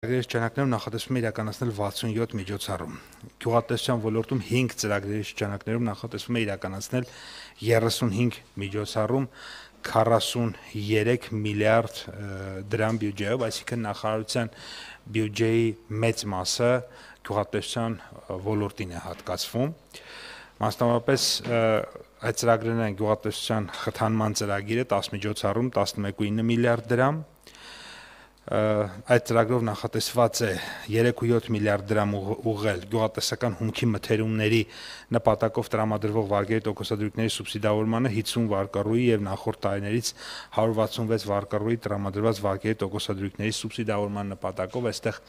Ծրագրերի շրջանակներում նախատեսվում է իրականացնել 67 միջոցառում։ Գյուղատնտեսության ոլորտում 5 ծրագրերի շրջանակներում նախատեսվում է իրականացնել 35 միջոցառում 43 միլիարդ դրամ բյուջեով, այսինքն նախարարության բյուջեի մեծ մասը գյուղատնտեսության ոլորտին է հատկացվում։ Մասնավորապես այդ ծրագրերն են գյուղատնտեսության խթանման ծրագիրը 10 միջոցառում 11.9 միլիարդ դրամ, այդ ծրագրով նախատեսված է 3.7 միլիարդ դրամ ուղղել գյուղատնտեսական հումքի մթերումների նպատակով տրամադրվող վարկերի տոկոսադրույքների սուբսիդավորմանը 50 վարկառուի եւ նախորդ տարիներից 166 վարկառուի տրամադրված վարկերի տոկոսադրույքների սուբսիդավորման նպատակով այստեղ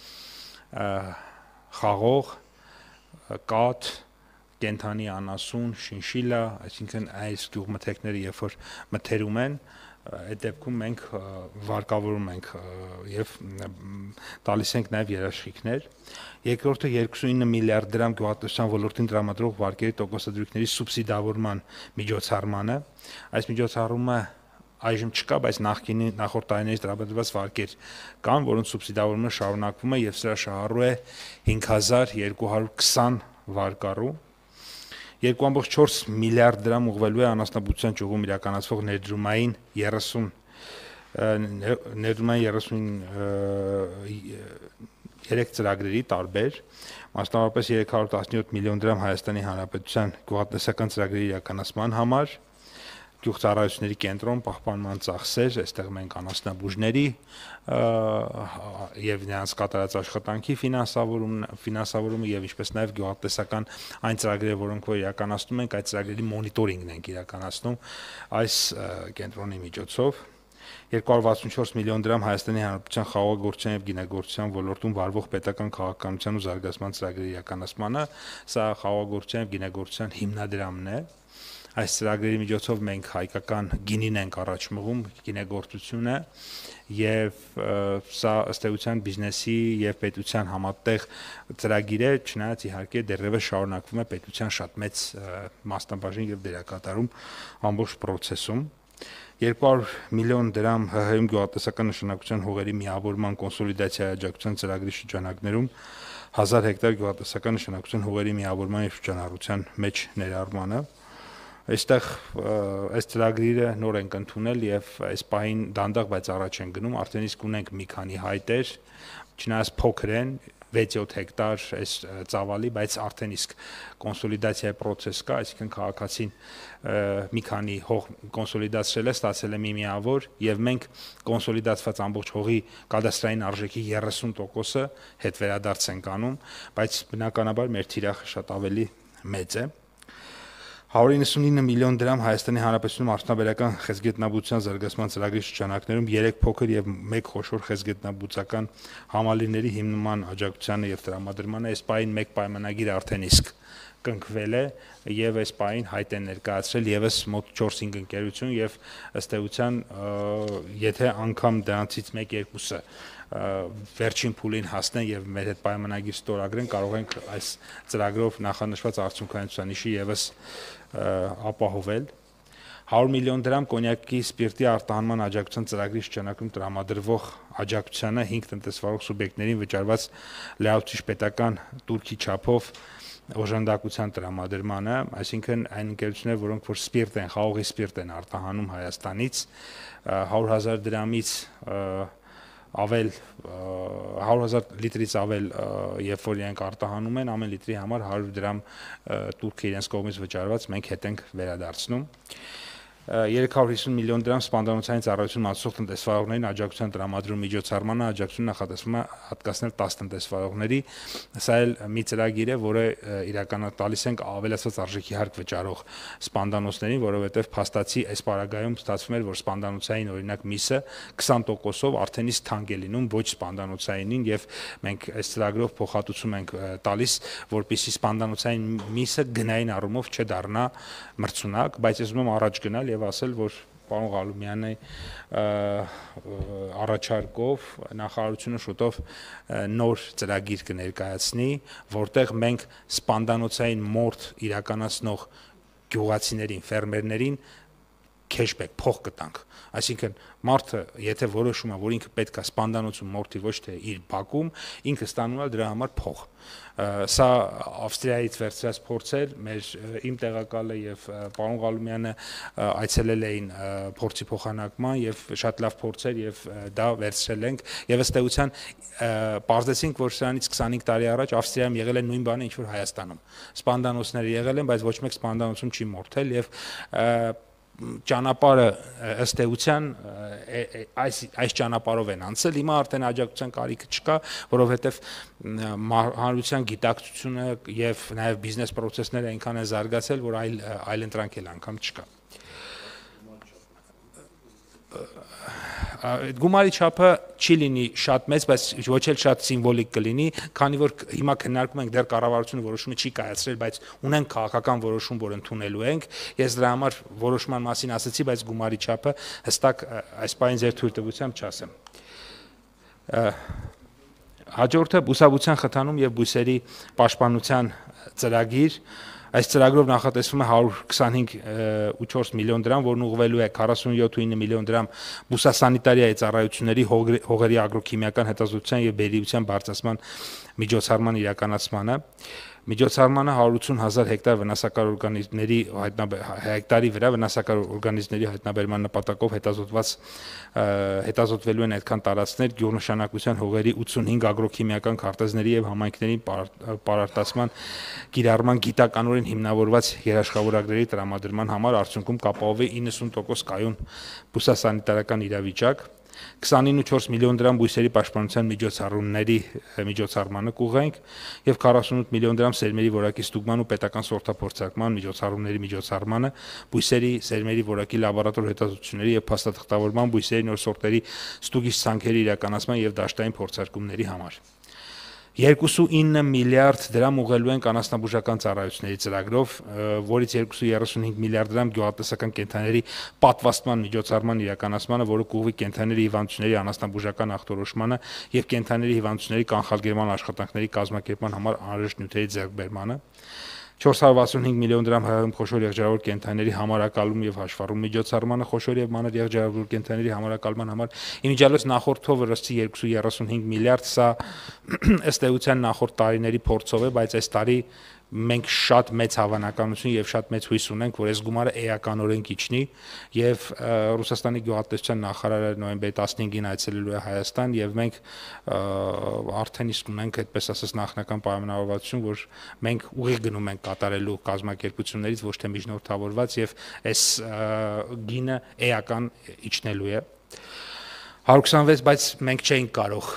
խաղող, կաթ, կենթանի անասուն, շինշիլա, այսինքն այս գյուղմթերքները երբ որ մթերում են, այդ դեպքում մենք վարկավորում ենք եւ տալիս ենք նաեւ երաշխիքներ։ Երկրորդը 29 միլիարդ դրամ գյուղատնտեսության ոլորտին տրամադրող վարկերի տոկոսադրույքների սուբսիդավորման միջոցառմանը։ Այս միջոցառումը այժմ չկա, բայց նախորդ տարիներից տրամադրված վարկեր կան, որոնց սուբսիդավորումը շարունակվում է եւ սրա շահառու է 5220 վարկառու։ 2.4 միլիարդ դրամ ուղղվելու է անասնաբուծության ճյուղում իրականացվող ներդրումային 33 ծրագրերի տարբեր, մասնավորապես 317 միլիոն դրամ Հայաստանի Հանրապետության գյուղատնտեսական ծրագրերի իրականացման համար, գյուղծառայությունների կենտրոն, պահպանման ծախսեր, այստեղ մենք անասնաբուժների եւ նրանց կատարած աշխատանքի ֆինանսավորումը եւ ինչպես նաեւ գյուղատնտեսական այն ծրագրերը, որոնք որ իրականացնում ենք, այդ ծրագրերի մոնիտորինգն ենք իրականացնում այս կենտրոնի միջոցով։ 264 միլիոն դրամ Հայաստանի Հանրապետության խաղողագործության եւ գինեգործության ոլորտում վարվող պետական քաղաքականության ու զարգացման ծրագրերի իրականացմանը, սա խաղողագործության եւ գինեգործության հիմնադրամն է։ Այս ծրագրերի միջոցով մենք հայկական գինին ենք առաջ մղում, գինեգործությունը եւ սա ըստ էության բիզնեսի եւ պետության համատեղ ծրագիր է, չնայած իհարկե դեռևս շարունակվում է պետության շատ մեծ մասնաբաժին եւ դերակատարում ամբողջ process-ում։ 200 միլիոն դրամ ՀՀ-ում գյուղատնտեսական նշանակության հողերի միավորման կոնսոլիդացիայի աջակցության ծրագրի շրջանակներում 1000 հեկտար գյուղատնտեսական նշանակության հողերի միավորման եւ շրջանառության մեջ ներառմանը։ Այստեղ այս ծրագրերը նոր ենք ընդունել եւ այս պահին դանդաղ բայց առաջ են գնում, արդեն իսկ ունենք մի քանի հայտեր, չնայած փոքր են 6-7 հեկտար այս ծավալի, բայց արդեն իսկ կոնսոլիդացիայի process կա, այսինքն քաղաքացին մի քանի հող կոնսոլիդացրել է, ստացել է մի միավոր եւ մենք կոնսոլիդացված ամբողջ հողի կադաստրային արժեքի 30%-ը հետ վերադարձ ենք անում, բայց բնականաբար մեր թիրախը շատ ավելի մեծ է։ 199 միլիոն դրամ Հայաստանի Հանրապետությունում արդյունաբերական խեցգետնաբուծության զարգացման ծրագրի շրջանակներում 3 փոքր եւ 1 խոշոր խեցգետնաբուծական համալիրների հիմնման աջակցությանը եւ տրամադրմանը այս պահին մեկ պայմանագիր արդեն իսկ կնքվել է եւ այս պահին հայտ են ներկայացրել եւս մոտ 4-5 ընկերություն եւ ըստ էության եթե անգամ դրանցից 1-2-ը վերջին փուլին հասնեն եւ մեր հետ պայմանագիր ստորագրեն, կարող ենք այս ծրագրով նախանշված արդյունքայնության նիշը եւս ապահովել։ 100 միլիոն դրամ կոնյակի սպիրտի արտահանման աջակցության ծրագրի շրջանակում տրամադրվող աջակցությանը 5 տնտեսվարող սուբյեկտներին վճարված լրացուցիչ պետական турքի չափով օժանդակության տրամադրմանը, այսինքն այն ընկերությունները, որոնք որ սպիրտ են, խաղողի սպիրտ են արտահանում Հայաստանից 100,000 դրամից ավել 100,000 լիտրից ավել երբ որ իրենք արտահանում են, ամեն լիտրի համար 100 դրամ турքը իրենց կողմից վճարված մենք հետ ենք վերադարձնում։ 350 միլիոն դրամ սպանդանոցային ծառայություն մատուցող տնտեսվարողներին աջակցության տրամադրում միջոցառմանը աջակցություն նախատեսվում է հատկացնել 10 տնտեսվարողների, սա էլ մի ծրագիր է, որը իրականացնել տալիս ենք ավելացված արժեքի հարկ վճարող սպանդանոցներին, որովհետև փաստացի այս պարագայում ստացվում էր, որ սպանդանոցային օրինակ միսը 20%-ով արդեն իսկ թանկ է լինում ոչ սպանդանոցայինին եւ մենք այս ծրագրով փոխհատուցում ենք տալիս, որպեսզի սպանդանոցային միսը գնային առումով չդառնա մրցունակ, բայց ես ուզում եմ առաջ գնալ եւ ասել, որ պարոն Ղալումյանի առաջարկով նախարարությունը շուտով նոր ծրագիր կներկայացնի, որտեղ մենք սպանդանոցային մորթ իրականացնող գյուղացիներին, ֆերմերներին cashback փող կտանք, այսինքն մարդը եթե որոշում է, որ ինքը պետք է սպանդանոցում մորթի ոչ թե իր բակում, ինքը ստանում է դրա համար փող։ Սա Ավստրիայից վերցրած փորձ էր, իմ տեղակալը եւ պարոն Ղալումյանը այցելել էին փորձի փոխանակման եւ շատ լավ փորձ էր եւ դա վերցրել ենք եւ ըստ էության պարզեցինք, որ սրանից 25 տարի առաջ Ավստրիայում եղել է նույն բանը, ինչ որ Հայաստանում։ Սպանդանոցները եղել են, բայց ոչ մեկ սպանդանոցում չի մորթել եւ ճանապարհը ըստ էության այս ճանապարհով են անցել, հիմա արդեն աջակցության կարիքը չկա, որովհետև հանրության գիտակցությունը եւ նաեւ բիզնես process-ները այնքան են զարգացել, որ այլ ընտրանք էլ անգամ չկա։ Գումարի չափը չի լինի շատ մեծ, բայց ոչ էլ շատ սիմվոլիկ կլինի, քանի որ հիմա քննարկում ենք դեռ կառավարությունը որոշումը չի կայացրել, բայց ունենք քաղաքական որոշում, որ ընդունելու ենք։ Ես դրա համար որոշման մասին ասացի, բայց գումարի չափը հստակ այս պահին ձեր թույլտվությամբ չասեմ։ Հաջորդը բուսաբուծության խթանում եւ բույսերի պաշտպանության ծրագիր։ Այս ծրագրով նախատեսվում է 125.4 միլիոն դրամ, որն ուղղվելու է 47.9 միլիոն դրամ բուսասանիտարիայի ծառայությունների, հողերի ագրոքիմիական հետազոտության եւ բերիության բարձրացման միջոցառման իրականացմանը։ Միջոցառմանը 180,000 հեկտար վնասակար օրգանիզմների հեկտարի վրա վնասակար օրգանիզմների հայտնաբերման նպատակով հետազոտվելու են այդքան տարածքներ գյուղնշանակության հողերի 85 ագրոքիմիական քարտեզների եւ համայնքների պարարտացման կիրառման գիտականորեն հիմնավորված երաշխավորագրերի տրամադրման համար արդյունքում կապահովի 90% կայուն բուսասանիտարական իրավիճակ։ 29.4 միլիոն դրամ բույսերի պաշտպանության միջոցառումների միջոցառմանը կուղենք եւ 48 միլիոն դրամ սերմերի որակի ստուգման ու պետական սորտափորձարկման միջոցառումների միջոցառմանը, բույսերի սերմերի որակի լաբորատոր հետազոտությունների եւ փաստաթղթավորման, բույսերի նոր սորտերի ստուգիչ ցանքերի իրականացման եւ դաշտային փորձարկումների համար։ 2.9 միլիարդ դրամ ուղղելու են կանասնաբուժական ծառայությունների ծրագրով, որից 2.35 միլիարդ դրամ գյուղատնտեսական կենդանիների պատվաստման միջոցառման իրականացմանը, որը կուղղվի կենդանիների հիվանդությունների անասնաբուժական ախտորոշմանը եւ կենդանիների հիվանդությունների կանխարգելման աշխատանքների կազմակերպման համար անհրաժեշտ նյութերի ձեռքբերմանը։ 465 միլիոն դրամ հայում խոշոր եղջերավոր կենդանիների համարակալում եւ հաշվառում միջոցառմանը, խոշոր եւ մանր եղջերավոր կենդանիների համարակալման համար իմիջիալոց նախորդով ըստ 235 միլիարդ, սա ըստ էության նախորդ տարիների փորձով է, բայց այս տարի մենք շատ մեծ հավանականություն եւ շատ մեծ հույս ունենք, որ այս գումարը էականորեն կիջնի եւ Ռուսաստանի գյուղատնտեսության նախարարը նոյեմբերի 15-ին այցելելու է Հայաստան եւ մենք արդեն իսկ ունենք այդպես ասած նախնական պայմանավորվածություն, որ մենք ուղիղ գնում ենք կատարելու կազմակերպություններից ոչ թե միջնորդավորված եւ այս գինը էական իջնելու է 126, բայց մենք չէինք կարող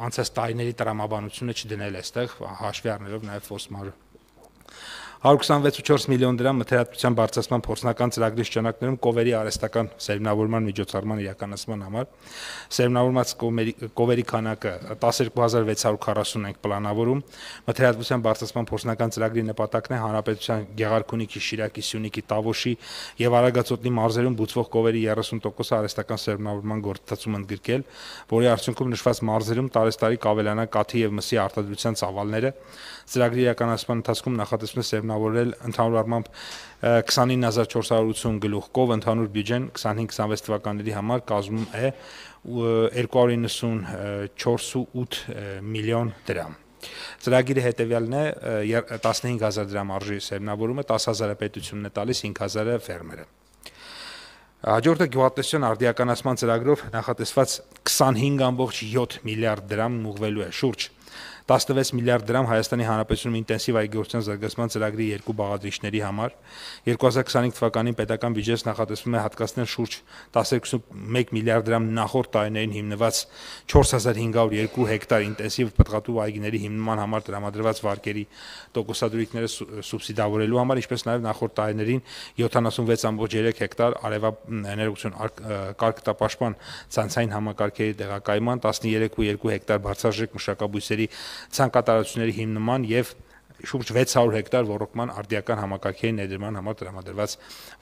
անցած տարիների տրամաբանությունը չդնել այստեղ, հաշվի առնելով նաև ֆոսմարը 126.4 միլիոն դրամ մթերատվության բարձրացման փորձնական ծրագրի շրջանակներում կովերի արհեստական սերմնավորման միջոցառման իրականացման համար սերմնավորված կովերի քանակը 12640 ենք պլանավորում մթերատվության բարձրացման փորձնական ծրագրի նպատակն է հանրապետության Գեղարքունիքի, Շիրակի, Սյունիքի, Տավոշի եւ Արագածոտնի մարզերում բուծվող կովերի 30% արհեստական սերմնավորման գործընթացում ընդգրկել, որի արդյունքում նշված մարզերում տարեստարի կավելանա կաթի եւ մսի արտադրության ծավալները ծրագրի իրականացման ընթացքում նախատեսվում է սերմնավորել ընդհանուր առմամբ 29480 գլուխկով, ընդհանուր բյուջեն 25-26 թվականների համար կազմում է 294.8 միլիոն դրամ։ Ծրագիրը հետևյալն է 15000 դրամ արժի սերմնավորումը, 10000-ը պետությունն է տալիս, 5000-ը ֆերմերը։ Հաջորդը գյուղատնտեսության արդիականացման ծրագրով նախատեսված 25.7 միլիարդ դրամ ուղղվելու է շուրջ 16 միլիարդ դրամ Հայաստանի Հանրապետությունում ինտենսիվ այգեգործության զարգացման ծրագրի երկու բաղադրիչների համար 2025 թվականին պետական բյուջեից նախատեսվում է հատկացնել շուրջ 12.1 միլիարդ դրամ նախորդ տարիներին հիմնված 4502 հեկտար ինտենսիվ պտղատու այգիների հիմնման համար տրամադրված վարկերի տոկոսադրույքները սուբսիդավորելու համար, ինչպես նաև նախորդ տարիներին 76.3 հեկտար արևաէներգություն կարգտապաշտպան ցանցային համակարգերի տեղակայման 13.2 հեկտար բարձրաժեք մշակաբույսերի ցանկատարությունների հիմնման եւ շուրջ 600 հեկտար ոռոգման արդիական համակարգերի ներդրման համար տրամադրված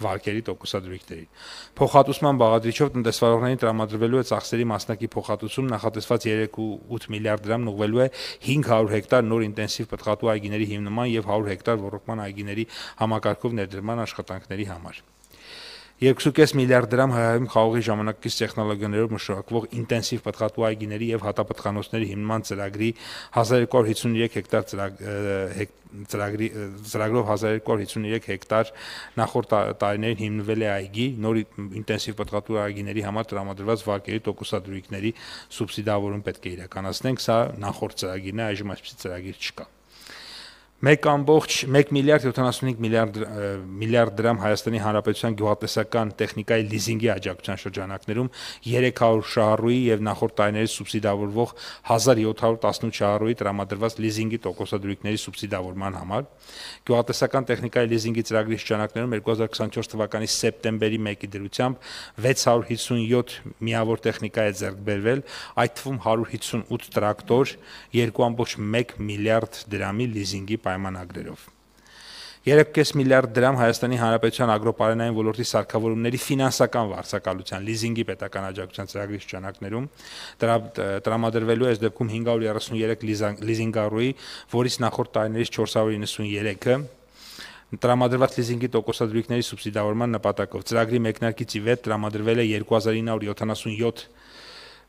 վարկերի տոկոսադրույքների։ Փոխհատուցման բաղադրիչով տնտեսվարողներին տրամադրվելու է ծախսերի մասնակի փոխհատուցում նախատեսված 3.8 միլիարդ դրամն ուղղվելու է 500 հեկտար նոր ինտենսիվ պտղատու այգիների հիմնման եւ 100 հեկտար ոռոգման այգիների համակարգով ներդրման աշխատանքների համար։ 2.5 միլիարդ դրամ հայերում խաղողի ժամանակակից տեխնոլոգիաներով մշակվող ինտենսիվ պտղատու այգիների եւ հատապտղանոցների հիմնման ծրագրի 1253 հեկտար ծրագրով 1253 հեկտար նախորդ տարիներին հիմնվել է այգի, նոր ինտենսիվ պտղատու այգիների համար տրամադրված վարկերի տոկոսադրույքների սուբսիդավորում պետք է իրականացնենք, սա նախորդ ծրագիրն է, այժմ այսպիսի ծրագիր չկա։ 1 միլիարդ 75 միլիարդ դրամ Հայաստանի Հանրապետության գյուղատնտեսական տեխնիկայի լիզինգի աջակցության շրջանակներում 300 շահառուի եւ նախորդ տարիների սուբսիդավորվող 1718 շահառուի տրամադրված լիզինգի տոկոսադրույքների սուբսիդավորման համար, գյուղատնտեսական տեխնիկայի լիզինգի ծրագրի շրջանակներում 2024 թվականի սեպտեմբերի 1-ի դրությամբ 657 միավոր տեխնիկա է ձեռք բերվել, այդ թվում 158 տրակտոր, 2.1 միլիարդ դրամի լիզինգի պայմանագրերով։ 3.5 միլիարդ դրամ Հայաստանի Հանրապետության ագրոպարենային ոլորտի սարքավորումների ֆինանսական վարձակալության լիզինգի պետական աջակցության ծրագրի շրջանակներում տրամադրվելու է այս դեպքում 533 լիզինգառուի, որից նախորդ տարիներից 493-ը տրամադրված լիզինգի տոկոսադրույքների սուբսիդավորման նպատակով։ Ծրագրի մեկնարկից ի վեր տրամադրվել է 2977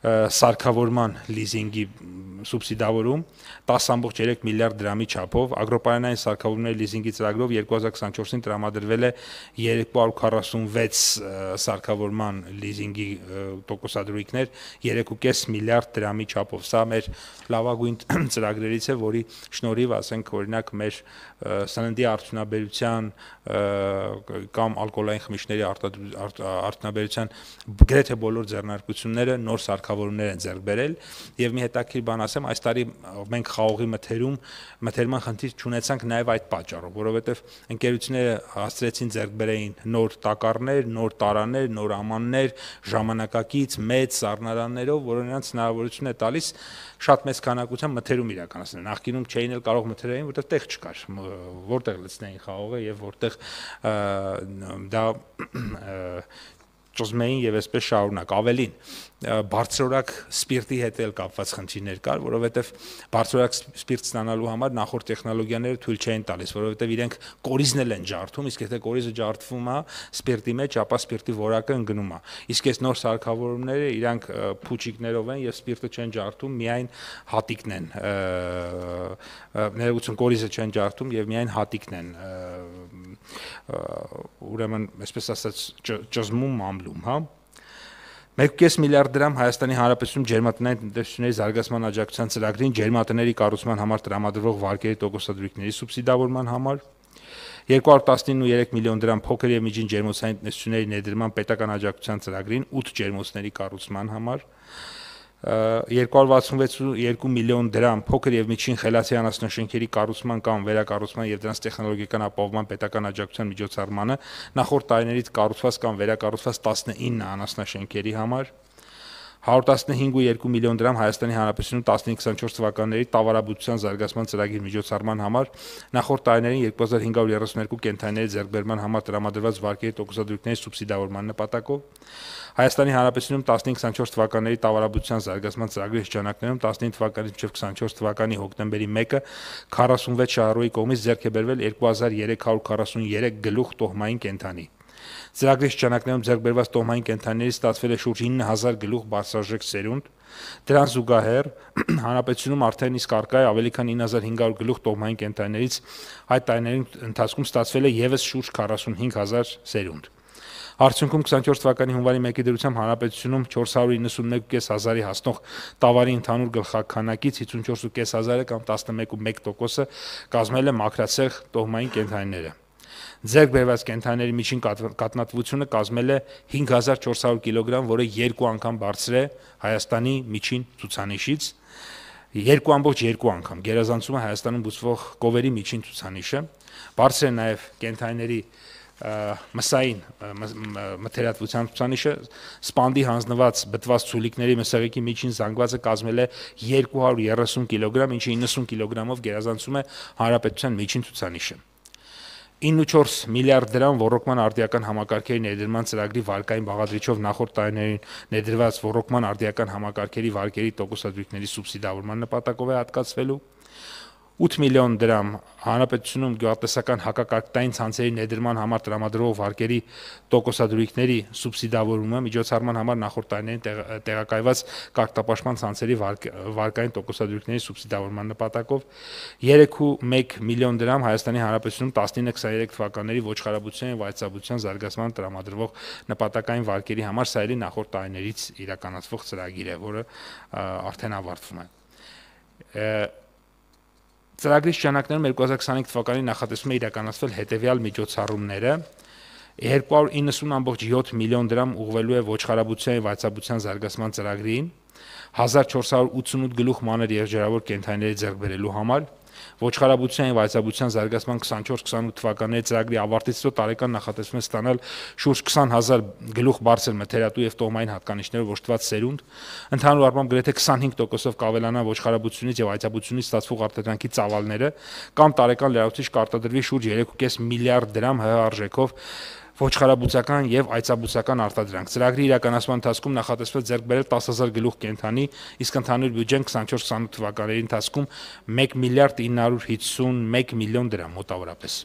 սարքավորման լիզինգի սուբսիդավորում 10.3 միլիարդ դրամի չափով, ագրոպարանային սարքավորումների լիզինգի ծրագրով 2024-ին տրամադրվել է 246 սարքավորման լիզինգի տոկոսադրույքներ 3.5 միլիարդ դրամի չափով։ Սա մեր լավագույն ծրագրերից է, որի շնորհիվ, ասենք, օրինակ, մեր սննդի արդյունաբերության կամ ալկոհոլային խմիչքների արդյունաբերության գրեթե բոլոր ձեռնարկությունները նոր սարքավորումներ են ձեռք բերել եւ մի հետաքրքիր բան ասեմ, այս տարի մենք խաղողի մթերման խնդիր չունեցանք նաեւ այդ պատճառով, որովհետեւ ընկերությունները հասցրեցին ձեռք բերեին նոր տակառներ, նոր տարաներ, նոր ամաններ, ժամանակակից մեծ սառնարաններով, որոնք նրանց հնարավորություն է տալիս շատ մեծ քանակությամբ մթերում իրականացնել։ Նախկինում չէին էլ կարող մթերային, որտեղ տեղ չկար, որտեղ լցնեին խաղողը եւ որտեղ դա ճզմեին եւ այսպես շարունակ։ Ավելին, բարձրորակ սպիրտի հետ էլ կապված խնդիրներ կար, որովհետեւ բարձրորակ սպիրտ ստանալու համար նախորդ տեխնոլոգիաները թույլ չէին տալիս, որովհետեւ իրենք կորիզն էլ են ջարդում, իսկ եթե կորիզը ջարդվում է սպիրտի մեջ, ապա սպիրտի որակը ընկնում է։ Իսկ այս նոր սարքավորումները իրանք փուչիկներով են եւ սպիրտը չեն ջարդում, միայն հատիկն են, ներողություն, կորիզը չեն ջարդում եւ միայն հատիկն են, ուրեմն, այսպես ասած, ճզմում ամլում, հա։ 1.5 միլիարդ դրամ Հայաստանի Հանրապետությունում ջերմատնային տնտեսությունների զարգացման աջակցության ծրագրին ջերմատների կառուցման համար տրամադրվող վարկերի տոկոսադրույքների սուբսիդավորման համար, 219.3 միլիոն դրամ փոքր եւ միջին ջերմոցային տնտեսությունների ներդրման պետական աջակցության ծրագրին 8 ջերմոցների կառուցման համար, 266.2 միլիոն դրամ փոքր եւ միջին խելացի անասնաշենքերի կառուցման կամ վերակառուցման եւ դրանց տեխնոլոգիական ապահովման պետական աջակցության միջոցառմանը նախորդ տարիներից կառուցված կամ վերակառուցված 19 անասնաշենքերի համար, 115.2 միլիոն դրամ Հայաստանի Հանրապետությունում 15-24 թվականների տավարաբուծության զարգացման ծրագրի միջոցառման համար, նախորդ տարիներին 2532 կենդանիների ձեռքբերման համար տրամադրված վարկերի տոկոսադրույքների սուբսիդավորման նպատակով, Հայաստանի Հանրապետությունում 15-24 թվականների տավարաբուծության զարգացման ծրագրի շրջանակներում 15 թվականից մինչև 24 թվականի հոկտեմբերի 1-ը 46 շահառուի կողմից ձեռք է բերվել 2343 գլուխ տոհմային կենդանի։ Ծրագրի շրջանակներում ձեռք բերված տոհմային կենդանիներից ստացվել է շուրջ 9000 գլուխ բարձրաժեք սերունդ, դրան զուգահեռ հանրապետությունում արդեն իսկ առկա է ավելի քան 9500 գլուխ տոհմային կենդանիներից այդ տարիների ընթացքում ստացվել է եւս շուրջ 45000 սերունդ։ Արդյունքում 24 թվականի հունվարի 1-ի դրությամբ հանրապետությունում 491.5 հազարի հասնող տավարի ընդհանուր գլխաքանակից 54.5 կամ 11.1%-ը կազմել է մաքրացեղ տոհմային կենդանիները։ Ձեռք բերված կենդանիների միջին կատնատվությունը կազմել է 5400 կիլոգրամ, որը 2 անգամ բարձր է Հայաստանի միջին ցուցանիշից, 2.2 անգամ գերազանցում է Հայաստանում բուծվող կովերի միջին ցուցանիշը, բարձր է նաև կենդանիների մսային մթերատվության ցուցանիշը, սպանդի հանձնված բտված ցուլիկների մսեղիկի միջին զանգվածը կազմել է 230 կիլոգրամ, ինչը 90 կիլոգրամով գերազանցում է հանրապետության միջին ցուցանիշը։ 9.4 միլիարդ դրամ ռոռոկման արդիական համակարգերի ներդրման ծրագրի վարկային բաղադրիչով նախորդ տարիներին ներդրված ռոռոկման արդիական համակարգերի վարկերի տոկոսադրույքների սուբսիդավորման նպատակով է հատկացվելու։ 8 միլիոն դրամ հանրապետությունում գյուղատնտեսական հակակարգտային ցանցերի ներդրման համար տրամադրող վարկերի տոկոսադրույքների սուբսիդավորումը միջոցառման համար նախորդ տարիներին տեղակայված կարգապաշտպան ցանցերի վարկային տոկոսադրույքների սուբսիդավորման նպատակով 3.1 միլիոն դրամ Հայաստանի Հանրապետությունում 19-23 թվականների ոչխարաբուծության եւ այծաբուծության զարգացման տրամադրվող նպատակային վարկերի համար սա էլի նախորդ տարիներից իրականացվող ծրագիր է, որը արդեն ավարտվում է։ Ծրագրի շրջանակներում 2025 թվականին նախատեսվում է իրականացվել հետևյալ միջոցառումները 290.7 միլիոն դրամ ուղղվելու է ոչխարաբուծության եւ այծաբուծության զարգացման ծրագրին 1488 գլուխ մանր եղջերավոր կենդանիների ձեռք բերելու համար ոչխարաբուծության եւ այծաբուծության զարգացման 24-28 թվականների ծրագրի ավարտից հետո տարեկան նախատեսվում է ստանալ շուրջ 20,000 գլուխ բարձր մթերատու եւ տոհմային հատկանիշներով օժտված սերունդ, ընդհանուր առմամբ գրեթե 25%-ով կավելանան ոչխարաբուծությունից եւ այծաբուծությունից ստացվող արտադրանքի ծավալները, կամ տարեկան լրացուցիչ կարտադրվի շուրջ 3.5 միլիարդ դրամ ՀՀ արժեքով ոչխարաբուծական եւ այծաբուծական արտադրանք։ Ծրագրի իրականացման ընթացքում նախատեսվել ձեռք բերել 10,000 գլուխ կենդանի, իսկ ընդհանուր բյուջեն 24-28 թվականների ընթացքում 1 միլիարդ 951 միլիոն դրամ մոտավորապես։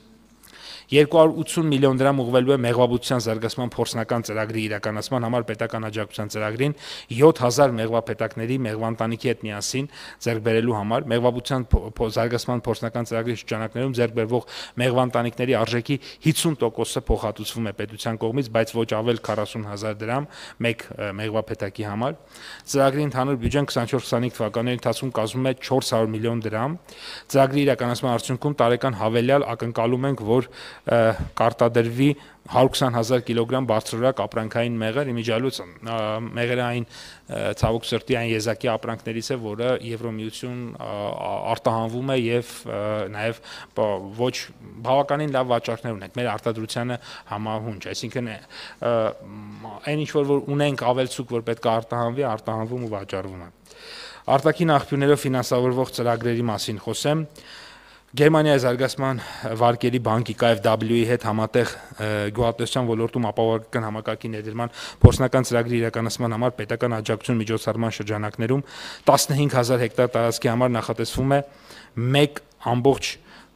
280 միլիոն դրամ ուղղվելու է մեղվաբուծության զարգացման փորձնական ծրագրի իրականացման համար պետական աջակցության ծրագրին 7000 մեղվապետակների մեղվանտանիքի հետ միասին ձեռք բերելու համար մեղվաբուծության զարգացման փորձնական ծրագրի շրջանակներում ձեռք բերվող մեղվանտանիքների արժեքի 50%-ը փոխհատուցվում է պետության կողմից, բայց ոչ ավել 40,000 դրամ մեկ մեղվապետակի համար։ Ծրագրի ընդհանուր բյուջեն 24-25 թվականների ընթացքում կազմում է 400 միլիոն դրամ։ Ծրագրի իրականացման արդյունքում տարեկան հավելյալ ակնկալում ենք, որ կարտադրվի 120,000 կիլոգրամ բարձրորակ ապրանքային մեղր, իմիջիալուց մեղրը այն ցավոք սրտի այն եզակի ապրանքներից է, որը Եվրոմիություն արտահանվում է եւ նաեւ ոչ բավականին լավ վաճառքներ ունենք։ Մեր արտադրությանը համահունչ, այսինքն այն ինչ որ ունենք ավելցուկ, որ պետք է արտահանվի, արտահանվում ու վաճառվում է։ Արտաքին աղբյուրներով ֆինանսավորվող ծրագրերի մասին խոսեմ։ Գերմանիայի զարգացման վարկերի բանկի KfW-ի հետ համատեղ գյուղատնտեսության ոլորտում ապահովական համակարգի ներդրման փորձնական ծրագրի իրականացման համար պետական աջակցություն միջոցառման շրջանակներում 15,000 հեկտար տարածքի համար նախատեսվում է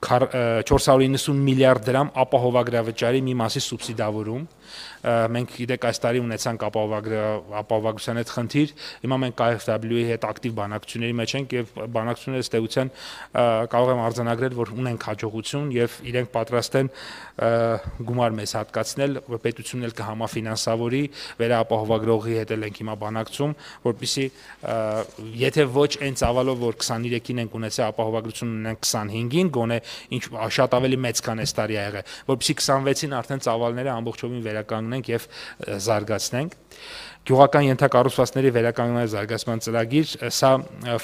1.490 միլիարդ դրամ ապահովագրավճարի մի մասի սուբսիդավորում։ Մենք գիտեք այս տարի ունեցանք ապահովագրության հետ խնդիր, հիմա մենք KfW-ի հետ ակտիվ բանակցությունների մեջ ենք եւ բանակցությունները ըստ էության կարող եմ արձանագրել, որ ունենք հաջողություն եւ իրենք պատրաստ են գումար մեզ հատկացնել, պետությունն էլ կհամաֆինանսավորի, վերաապահովագրողի հետ էլ ենք հիմա բանակցում, որպեսզի եթե ոչ այն ծավալով, որ 23-ին ենք ունեցել ապահովագրություն ունենք 25-ին, գոնե ինչ շատ ավելի մեծ քան այս տարի ա եղել, որպեսզի 26-ին արդեն ծավալները ամբողջովին վերականգնենք եւ զարգացնենք։ Գյուղական ենթակառուցվածքների վերականգնման զարգացման ծրագիր, սա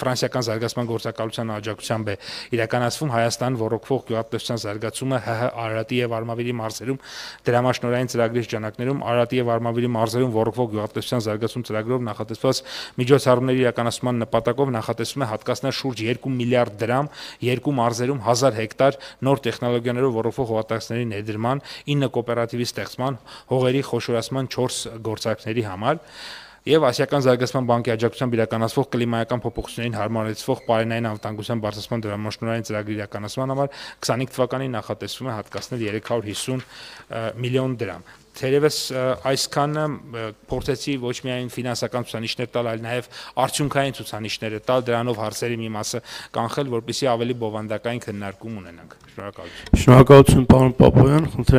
ֆրանսիական զարգացման գործակալության աջակցությամբ է իրականացվում Հայաստան ռոռոկվող գյուղատնտեսության զարգացումը ՀՀ Արարատի եւ Արմավիրի մարզերում դրամաշնորհային ծրագրի շրջանակներում Արարատի եւ Արմավիրի մարզերում ռոռոկվող գյուղատնտեսության զարգացում ծրագրով նախատեսված միջոցառումների իրականացման նպատակով նախատեսվում է հատկացնել շուրջ 2 միլիարդ դրամ երկու մարզերում 1000 հեկտար նոր տեխնոլոգիաներով ռոռոկվող հողատարածքների ներդրման, 9 կոոպերատիվի ստեղծման, հողերի խոշորացման 4 գործարքների համար եւ Ասիական զարգացման բանկի աջակցությամբ իրականացվող կլիմայական փոփոխություններին հարմարեցվող պարենային անվտանգության բարձրացման դրամաշնորհային ծրագրի իրականացման համար 25 թվականին նախատեսվում է հատկացնել 350 միլիոն դրամ։ Թերևս այսքանը փորձեցի ոչ միայն ֆինանսական ցուցանիշներ տալ, այլ նաեւ արդյունքային ցուցանիշներ տալ, դրանով հարցերի մի մասը կանխել, որպեսզի ավելի բովանդակային քննարկում ունենանք։ Շնորհակալություն։ Շնորհակալություն, պարոն Պապոյան։